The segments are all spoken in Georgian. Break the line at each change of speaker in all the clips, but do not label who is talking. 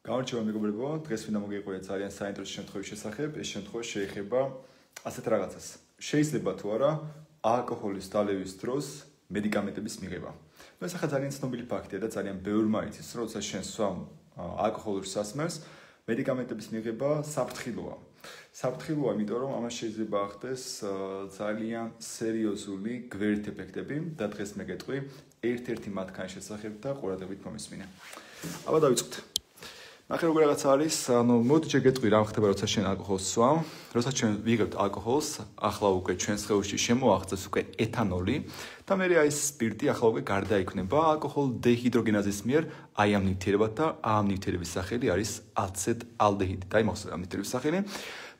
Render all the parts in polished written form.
გამარჯობა მეგობრებო, დღეს ვინდა მოგიყვია ძალიან საინტერესო შემთხვევის შესახებ. ეს შემთხვევა შეეხება ასეთ რაღაცას. შეიძლება თუ არა ალკოჰოლის დალევის დროს მედიკამენტების მიღება. ეს ახლა ძალიან ცნობილი ფაქტია და ძალიან ბევრმა იცის, რომ როცა შენ სვამ ალკოჰოლურ სასმელს, მედიკამენტების მიღება საფრთხილოა. საფრთხილოა, იმიტომ რომ ამას შეიძლება ახდეს ძალიან სერიოზული გვერდით ეფექტები და დღეს მე გეტყვი ერთ-ერთი მათგანის შესახებ და ყურადღებით მომისმინე. აბა დავიწყოთ. ნახე როგორ რაღაცა არის, მოდი ჯერ გეტყვი რა ხდება, როცა შენ ალკოჰოლს სვამ. როცა ჩვენ ვიღებთ ალკოჰოლს, ახლა უკვე ჩვენს სხეულში შემოაღწევს უკვე ეთანოლი და მე აი სპირტი ახლა უკვე გარდაიქმნება ალკოჰოლ დეჰიდროგენაზის მიერ, აი ამ ნივთიერებად და ამ ნივთიერების სახელი არის აცეტალდეჰიდი. და იმახსოვრე ამ ნივთიერების სახელი.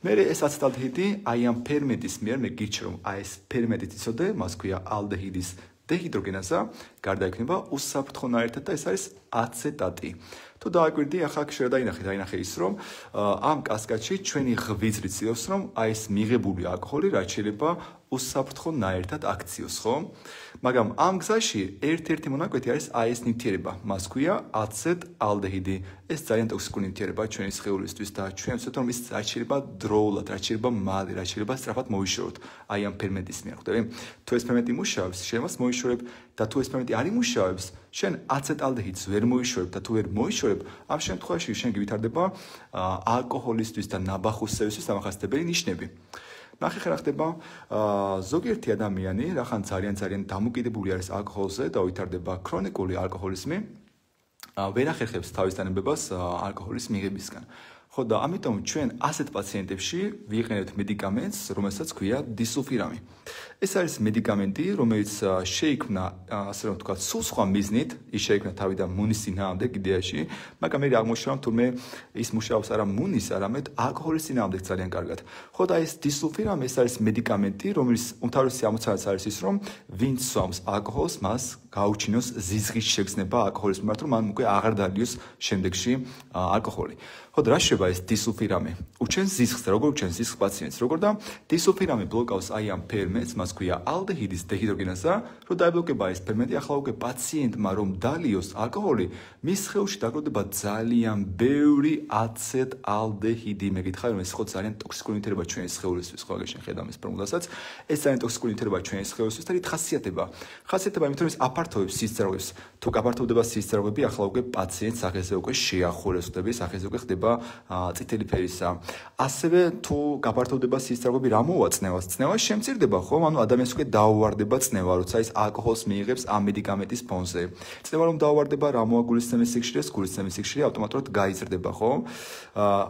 მე ეს აცეტალდეჰიდი აი ამ ფერმენტის მიერ მე გირჩევ რომ აი ეს ფერმენტი იცოდე, მას ქვია ალდეჰიდის დეჰიდროგენაზა, გარდაიქმნება უსაფრთხონაირად და ეს არის აცეტატი. თუ დააკვირდი, ახლა დაინახე ის, რომ ამ კასკადში ჩვენი ღვიძლი ცდილობს, რომ აი ეს მიღებული ალკოჰოლი რაც შეიძლება უსაფრთხონაირად აქციოს, ხო? მაგრამ ამ გზაში ერთ-ერთი მონაკვეთი არის აი ეს ნივთიერება, მას ქვია აცეტალდეჰიდი. ეს ძალიან ტოქსიკური ნივთიერებაა ჩვენი სხეულისთვის და ჩვენ ვცდილობთ, რომ ის რაც შეიძლება დროულად, რაც შეიძლება მალე, რაც შეიძლება სწრაფად მოიშოროთ აი ამ ფერმენტის მიერ, ხვდები? თუ ეს ფერმენტი მუშაობს, შენ მას მოიშორებ და თუ ეს ფერმენტი არ იმუშავებს, შენ აცეტალდეჰიდს ვერ მოიშორებ და თუ ვერ მოიშორებ, ამ შემთხვევაში შენ გივითარდება ალკოჰოლისტვის და ნაბახუსებისთვის დამახასიათებელი ნიშნები. ნახე რა ხდება, ზოგიერთი ადამიანი, რახან ძალიან დამოკიდებული არის ალკოჰოლზე და ვითარდება ქრონიკული ალკოჰოლიზმი, ვერ ახერხებს თავის დანებებას ალკოჰოლის მიღებისგან. ხო და ამიტომ ჩვენ ასეთ პაციენტებში ვიყენებთ მედიკამენტს, რომელსაც ქვია დისულფირამი. ეს არის მედიკამენტი, რომელიც შეიქმნა, ასე რომ ვთქვათ, სულ სხვა მიზნით, ის შეიქმნა თავიდან მუნის წინააღმდეგ იდეაში, მაგრამ მე აღმოჩნდა, რომ თურმე ის მუშაობს არა მუნის, არამედ ალკოჰოლის წინააღმდეგ ძალიან კარგად. ხო და ეს დისულფირამი ეს არის მედიკამენტი, რომელიც უმთავრესი ამოცანაც არის ის, რომ ვინც სვამს ალკოჰოლს, მას გაუჩინოს ზიზღის შეგრძნება ალკოჰოლის მიმართ, რომ მან უკვე აღარ დალიოს შემდეგში ალკოჰოლი. ხო და რა შეიძლება ეს დისულფირამი? უჩენს ზიზღს და როგორ უჩენს ზიზღს პაციენტს? როგორ და დისულფირამი ბლოკავს აი ამ ფერმენტს, მას ქვია ალდეჰიდის დეჰიდროგენაზა, რომ დაიბლოკება ეს ფერმენტი, ახლა უკვე პაციენტმა რომ დალიოს ალკოჰოლი, მის სხეულში დაგროვდება ძალიან ბევრი აცეტალდეჰიდი. მე გითხარი, რომ ეს ხო ძალიან ტოქსიკური ნივთიერება ჩვენი სხეულისთვის, ხო აგერ შენ ხედავ ეს ფორმულასაც, ეს ძალიან ტოქსიკური ნივთიერება ჩვენი სხეულისთვის და რით ხასიათება, იმიტომ რომ ის აფართოვებს სისწრაფვებს. თუ გაფართოვდება სისწრაფვები, ახლა უკვე პაციენტს სახეზე უკვე შეახურებს, ხდები, სახეზე უკვე ხდება წითელი ფერისა. ასევე თუ გაფართოვდება სისწრაფვები, რა მოვა წნევას? წნევა შემცირდება, ხო? ანუ ადამიანს უკვე დაუვარდება წნევა, როცა ის ალკოჰოლს მიიღებს ამ მედიკამენტის ფონზე. წნევა რომ დაუვარდება, რა მოვა გულისცემის სიხშირეს? გულისცემის სიხშირე ავტომატურად გაიზრდება, ხო?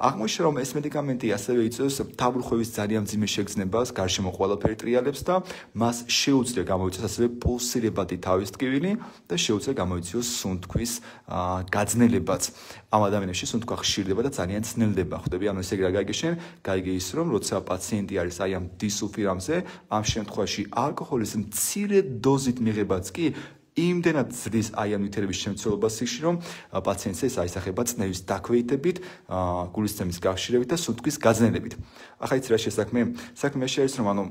აღმოჩნდა, რომ ეს მედიკამენტი ასევე იწვევს თავბრუხევის ძალიან მძიმე შეგრძნებას, გარშემო ყველაფერი ტრიალებს და მას შეუძლია გამოიწვიოს ასევე პულსირებადი თავის ტკივილი და შეუძლია გამოიწვიოს სუნთქვის გაძნელებაც. ამ ადამიანებში სუნთქვა ხშირდება და ძალიან ძნელდება, ხვდები? ანუ ესე რა გაიგე შენ? გაიგე ის, რომ როცა პაციენტი არის აი ამ დისულფირამზე, ამ შემთხვევაში ალკოჰოლის მცირე დოზით მიღებაც კი იმდენად ზრდის აი ამ ნივთიერების შემცველობას სიხში, რომ პაციენტს ეს აისახება წნევის დაქვეითებით, გულისცემის გახშირებით და სუნთქვის გაძნელებით. ახლა იცი რა შესაქმე? საქმე არის, რომ ანუ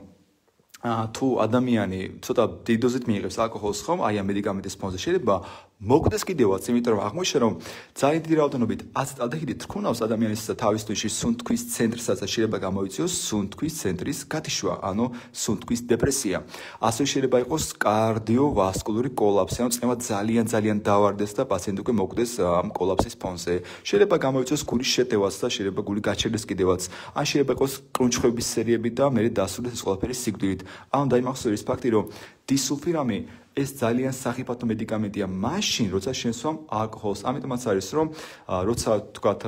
თუ ადამიანი ცოტა დიდი დოზით მიიღებს ალკოჰოლს, ხომ, აი ამ მედიკამენტის ფონზე შეიძლება მოგდეს კიდევაც, იმიტომ რომ აღმოჩნდა, რომ ძალიან დიდი რაოდენობით აცეტალდეჰიდი თქონავს ადამიანის თავის თვიში სუნთქვის ცენტრსაც და შეიძლება გამოიწვიოს სუნთქვის ცენტრის გათიშვა, ანუ სუნთქვის დეპრესია. ასევე შეიძლება იყოს კარდიოვასკულური კოლაფსი, ანუ წნევა ძალიან დავარდეს და პაციენტი უკვე მოგდეს ამ კოლაფსის ფონზე. შეიძლება გამოიწვიოს გულის შეტევაც და შეიძლება გული გაჩერდეს კიდევაც. ან შეიძლება იყოს კრუნჩხვების სერიები და მე დასრულდეს ეს ყველაფერი სიკვდილით. ანუ დაიმახსოვრე ის ფაქტი, რომ დისულფირამი ეს ძალიან სახიფათო მედიკამენტია მაშინ, როცა შენ სვამ ალკოჰოლს. ამიტომაც არის, რომ როცა თქვათ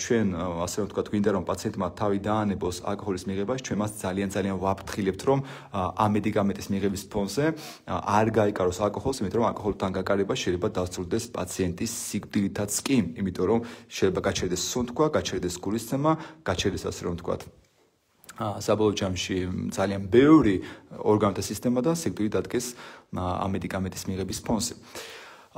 ჩვენ ასე რომ თქვათ გვინდა რომ პაციენტმა თავი დაანებოს ალკოჰოლის მიღებას, ჩვენ მას ძალიან ვაფრთხილებთ, რომ ამ მედიკამენტის მიღების ფონზე არ გაიკაროს ალკოჰოლს, იმიტომ რომ ალკოჰოლთან გაკარება შეიძლება დასრულდეს პაციენტის სიკვდილითაც კი, იმიტომ რომ შეიძლება გაჩერდეს სუნთქვა, გაჩერდეს გულისცემა, გაჩერდეს ასე რომ თქვათ საბოლოო ჯამში ძალიან ბევრი ორგანოთა სისტემა და სიკვდილი დადგეს ამ მედიკამენტის მიღების ფონზე.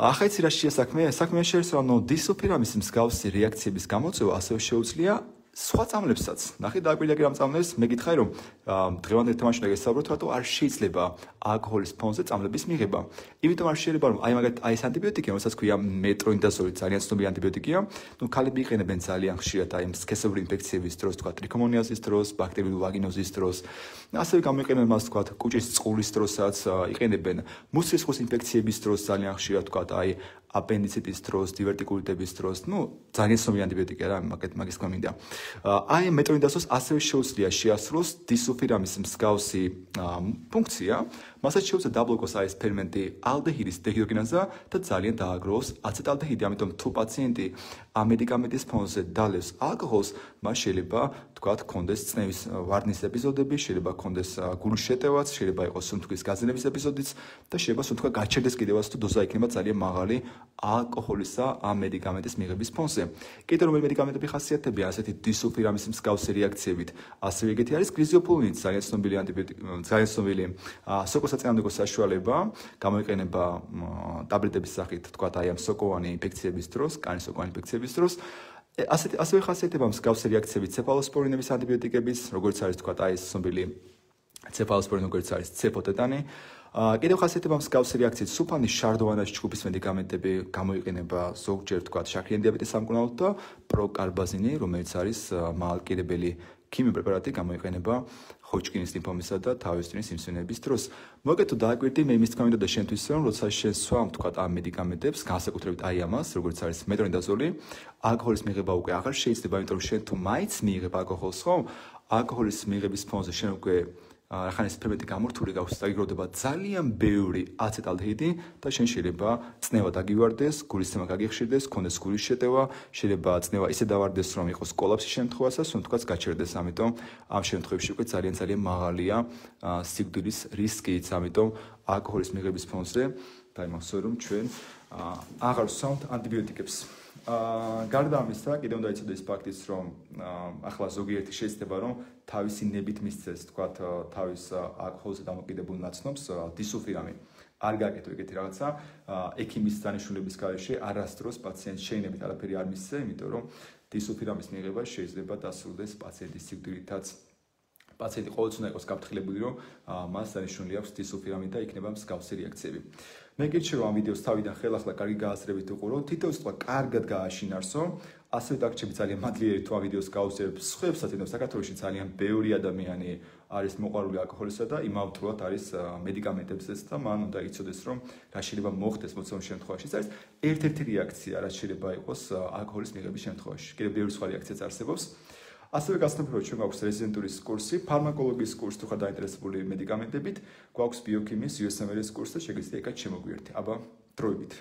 ახლა იცი რა შეასაქმე? საქმე შეიძლება რომ დისულფირამის მსგავსი რეაქციების გამოწვევა ასევე შეუძლია სხვა წამლებსაც. ნახე დააკვირდა კი რამ წამლებს, მე გითხარი რომ დღევანდელ თემაში გესაუბროთ, რატო არ შეიძლება ალკოჰოლის ფონზე წამლების მიღება. იმიტომ არ შეიძლება რომ აი მაგათ აი ეს ანტიბიოტიკი, რომელსაც ქვია მეტრონიდაზოლი, ძალიან ცნობილი ანტიბიოტიკია. ნუ ქალები იყენებენ ძალიან ხშირად აი სქესობრივი ინფექციების დროს, თქვა ტრიქომონიაზის დროს, ბაქტერიული ვაგინოზის დროს. ასევე გამოიყენებენ მას თქვა კუჭის წყურის დროსაც, იყენებენ მუცლის ინფექციების დროს ძალიან ხშირად თქვა აი აპენდიციტის დროს, დივერტიკულიტების დროს, ნუ ძალიან ცნობილი ანტიბიოტიკია რა, მაგის თქმა მინდა. აი მეტრონიდაზოლს ასევე შეუძლია შეასრულოს დისულფირამის მსგავსი ფუნქცია, მასაც შეუძლია დაბლოკოს აი ეს ფერმენტი ალდეჰიდის დეჰიდროგენაზა და ძალიან დააგროვოს აცეტალდეჰიდი, ამიტომ თუ პაციენტი ამ მედიკამენტის ფონზე დალევს ალკოჰოლს, მას შეიძლება თქვა კონდეს წნევის ვარდნის ეპიზოდები, შეიძლება კონდეს გულის შეტევაც, შეიძლება იყოს სუნთქვის გაზიანების ეპიზოდიც და შეიძლება სუნთქვა გაჩერდეს კიდევაც თუ დოზა იქნება ძალიან მაღალი ალკოჰოლისა ამ მედიკამენტის მიღების ფონზე. კიდევ რომელი მედიკამენტები ხასიათდებიან ასეთი დისულფირამის მსგავსი რეაქციებით, ასევე ეგეთი არის გლიზიოფულინი, ძალიან ცნობილი ანტიბიოტიკი, ძალიან ცნობილი სოკოსაწინააღმდეგო საშუალება, გამოიყენება ტაბლეტების სახით, თქვა აი ამ სოკოვანი ინფექციების დროს, კანის სოკოვანი ინფექციების დროს. ასევე ხასიათდება მსგავსი რეაქციებით ცეფალოსპორინების ანტიბიოტიკების, როგორც არის თქვა აი ეს ცნობილი ცეფალოსპორინი, როგორც არის ცეფოტეტანი. კიდევ ხასიათდება მსგავსი რეაქციით სულფანის შარდოვანას ჯგუფის მედიკამენტები, გამოიყენება ზოგჯერ თქვა შაქრიანი დიაბეტის სამკურნალოდ და პროკარბაზინი, რომელიც არის მალკირებელი ქიმიური პრეპარატი, გამოიყენება ჰოჯკინის ლიმფომისა და თავის ტვინის ინსულინების დროს. მოგეთო დააკვირდი მე იმის თქმა მინდოდა შენთვის რომ როცა შენ სვამ თქვა ამ მედიკამენტებს, განსაკუთრებით აი ამას, როგორც არის მეტრონიდაზოლი, ალკოჰოლის მიღება უკვე აღარ შეიძლება, იმიტომ რომ შენ თუ მაინც მიიღებ ალკოჰოლს, ხო? ალკოჰოლის მიღების ფონზე შენ უკვე რახან ეს ფერმენტი გამორთული გაქვს და იგროვდება ძალიან ბევრი აცეტალდეჰიდი და შენ შეიძლება წნევა დაგივარდეს, გულისცემა გაგიხშირდეს, კონდეს გულის შეტევა, შეიძლება წნევა ისე დავარდეს, რომ იყოს კოლაფსის შემთხვევასაც, სუნთქვაც გაჩერდეს, ამიტომ ამ შემთხვევებში უკვე ძალიან მაღალია სიკვდილის რისკიც, ამიტომ ალკოჰოლის მიღების ფონზე დაიმახსოვრე რომ ჩვენ აღარ ვსვამთ ანტიბიოტიკებს. გარდა ამისა, კიდევ უნდა იცოდეს ფაქტიც, რომ ახლა ზოგიერთი შეიძლება რომ თავისი ნებით მისცეს, თქვათ, თავის ალკოჰოლზე დამოკიდებულ ნაცნობს დისულფირამი. არ გაკეთო ეგეთი რაღაცა, ექიმის დანიშნულების გარეშე არასდროს პაციენტს შეინებით არაფერი არ მისცე, იმიტომ რომ დისულფირამის მიღება შეიძლება დასრულდეს პაციენტის სიკვდილითაც. პაციენტი ყოველთვის უნდა იყოს გაფრთხილებული, რომ მას დანიშნული აქვს დისულფირამი და იქნება მსგავსი რეაქციები. მე გირჩევ ამ ვიდეოს თავიდან ხელახლა კარგი გააზრებით უყურო, თითოეულ სიტყვა კარგად გააშინარსო, ასევე დაგჭირდები ძალიან მადლიერი თუ ამ ვიდეოს გაუსწრებ სხვებსაც, იმიტომ საქართველოში ძალიან ბევრი ადამიანი არის მოყვარული ალკოჰოლისა და იმავდროულად არის მედიკამენტებზეც და მან უნდა იცოდეს, რომ რა შეიძლება მოხდეს მოცემულ შემთხვევაში. ეს არის ერთ-ერთი რეაქცია, რაც შეიძლება იყოს ალკოჰოლის მიღების შემთხვევაში. კიდევ ბევრი სხვა რეაქციაც არსებობს. ასევე გასწრაფებია, რომ ჩვენ გვაქვს რეზიდენტურის კურსი, ფარმაკოლოგიის კურსი, თუ ხარ დაინტერესებული მედიკამენტებით, გვაქვს ბიოქიმიის USMLE-ის კურსი და შეგიძლია იქაც შემოგვიერთე. აბა, დროებით.